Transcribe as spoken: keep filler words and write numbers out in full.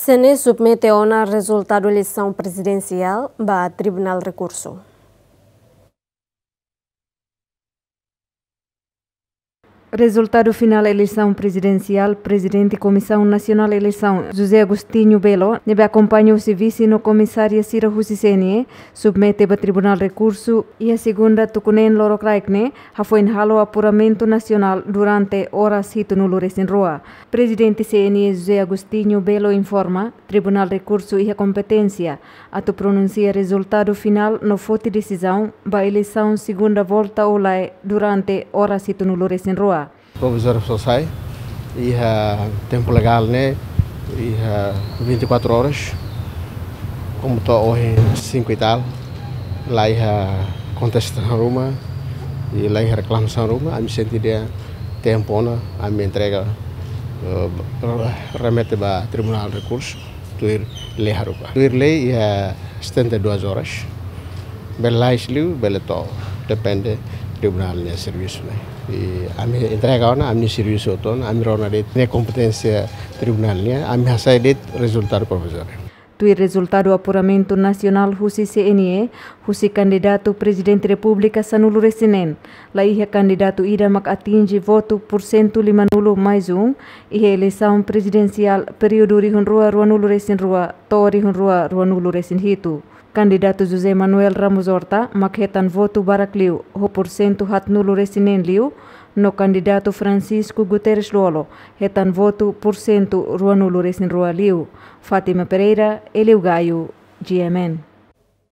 C N E submete ona rezultadu eleisaun prezidensiál ba Tribunál Rekursu. Rezultadu finál eleisaun prezidensiál, Prezidente Komisaun Nasionál Eleisaun, José Agostinho Belo, ne'ebé akompaña husi vise no komisária sira husi C N E, submete ba Tribunál Rekursu iha segunda tuku neen lorokraik ne'e, hafoin halo apuramentu nasionál durante oras hitunulu resin rua. Prezidente C N E José Agostinho Belo informa, Tribunál Rekursu iha kompeténsia atu pronunsia rezultadu finál no foti desizaun ba eleisaun segunda volta ou lae durante oras hitunulu resin rua. Provizóriu só sai iha tempu legál ne'e, iha vinte e quatro horas, komu to'o ohin cinco e tal, la iha kontestasaun ruma, i la iha reklamasaun ruma, ami sente dehan tempu ona, ami entrega, eh, remete ba Tribunál Rekursu, tuir lei haruka. Tuir lei iha setenta e duas horas. Bele la'o liu, bele to'o, depende tribunál nia servisu ne'e. I ami entrega ona, ami servisu hotu ona, ami rona de'it ne'e kompeténsia tribunál nian, ami hasai de'it rezultadu provizóriu. Tuir rezultadu apuramentu nasionál husi C N E, husi kandidatu Prezidente Repúblika sanulu resin neen, la iha kandidatu ida mak atinje votu porsentu limanulu mais um iha eleisaun prezidensiál períodu rihun rua ruanulu resin rua to'o rihun rua ruanulu resin hitu. Kandidatu José Manuel Ramos Horta mak hetan votu barak liu ho porsentu haatnulu resin neen liu, no kandidatu Francisco Guterres Lú-Olo hetan votu porsentu ruanulu resin rua liu. Fátima Pereira, Elio Gaio, G M N.